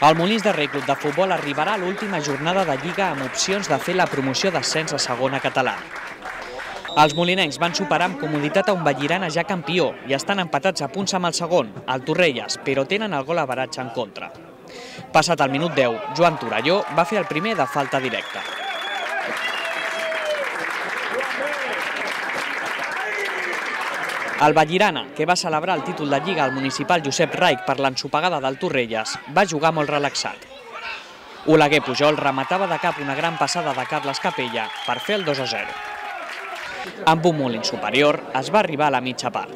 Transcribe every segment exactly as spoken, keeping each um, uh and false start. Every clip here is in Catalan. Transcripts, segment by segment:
El Molins de Rei Club de Futbol arribarà a l'última jornada de Lliga amb opcions de fer la promoció d'ascens a segona catalana. Els molinencs van superar amb comoditat a un Vallirana ja campió i estan empatats a punts amb el segon, el Torrelles, però tenen el gol average en contra. Passat el minut deu, Joan Torelló va fer el primer de falta directa. El Vallirana, que va celebrar el títol de Lliga al municipal Josep Raich per l'ensopegada del Torrelles, va jugar molt relaxat. Oleguer Pujol rematava de cap una gran passada de Carles Capella per fer el dos a zero. Amb un Molins superior es va arribar a la mitja part.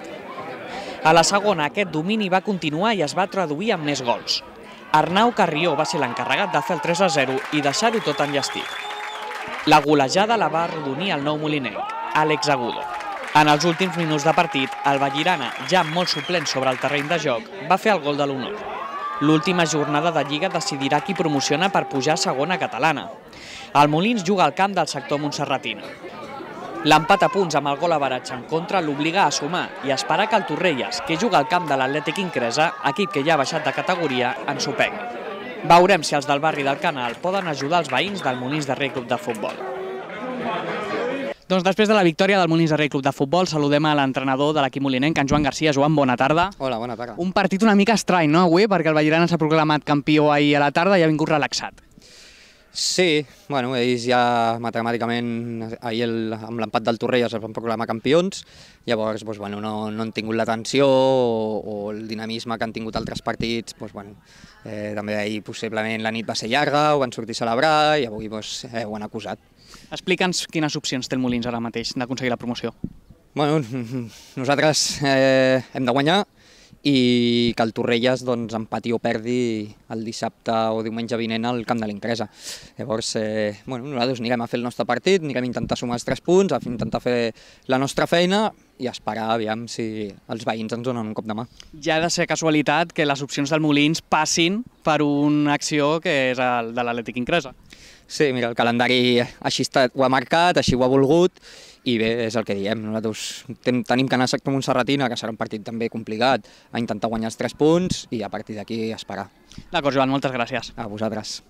A la segona aquest domini va continuar i es va traduir en més gols. Arnau Carrió va ser l'encarregat de fer el tres a zero i deixar-ho tot enllestit. La golejada la va arrodonir el nou molinenc, Àlex Agudo. En els últims minuts de partit, el Vallirana, ja molt suplent sobre el terreny de joc, va fer el gol de l'honor. L'última jornada de Lliga decidirà qui promociona per pujar a segona catalana. El Molins juga al camp del sector montserratino. L'empat a punts amb el gol average en contra l'obliga a sumar i a esperar que el Torrelles, que juga al camp de l'Atlètic Incresa, equip que ja ha baixat de categoria, ensopegui. Veurem si els del barri del Canal poden ajudar els veïns del Molins de Rei Club de Futbol. Doncs després de la victòria del Molins de Rei Club de Futbol, saludem a l'entrenador de l'equip molinenc, en Joan Garcia. Joan, bona tarda. Hola, bona tarda. Un partit una mica estrany, no, avui? Perquè el Vallirana s'ha proclamat campió ahir a la tarda i ha vingut relaxat. Sí, bueno, ells ja matemàticament ahir el, amb l'empat del Torrelles es van proclamar campions, llavors doncs, bueno, no, no han tingut l'atenció o, o el dinamisme que han tingut altres partits, doncs, bueno, eh, també ahir possiblement la nit va ser llarga, ho van sortir a celebrar i avui doncs, eh, ho han acusat. Explica'ns quines opcions té el Molins ara mateix d'aconseguir la promoció. Bueno, nosaltres eh, hem de guanyar i que el Torrelles doncs, empati o perdi el dissabte o diumenge vinent al camp de l'Incresa. Llavors, eh, bueno, nosaltres anirem a fer el nostre partit, anirem a intentar sumar els tres punts, a intentar fer la nostra feina i esperar aviam si els veïns ens donen un cop de mà. Ja ha de ser casualitat que les opcions del Molins passin per una acció que és el de l'Atlètic Incresa. Sí, mira, el calendari així ho ha marcat, així ho ha volgut, i bé, és el que diem, nosaltres tenim que anar a sector montserratina, que serà un partit també complicat, a intentar guanyar els tres punts i a partir d'aquí esperar. D'acord, Joan, moltes gràcies. A vosaltres.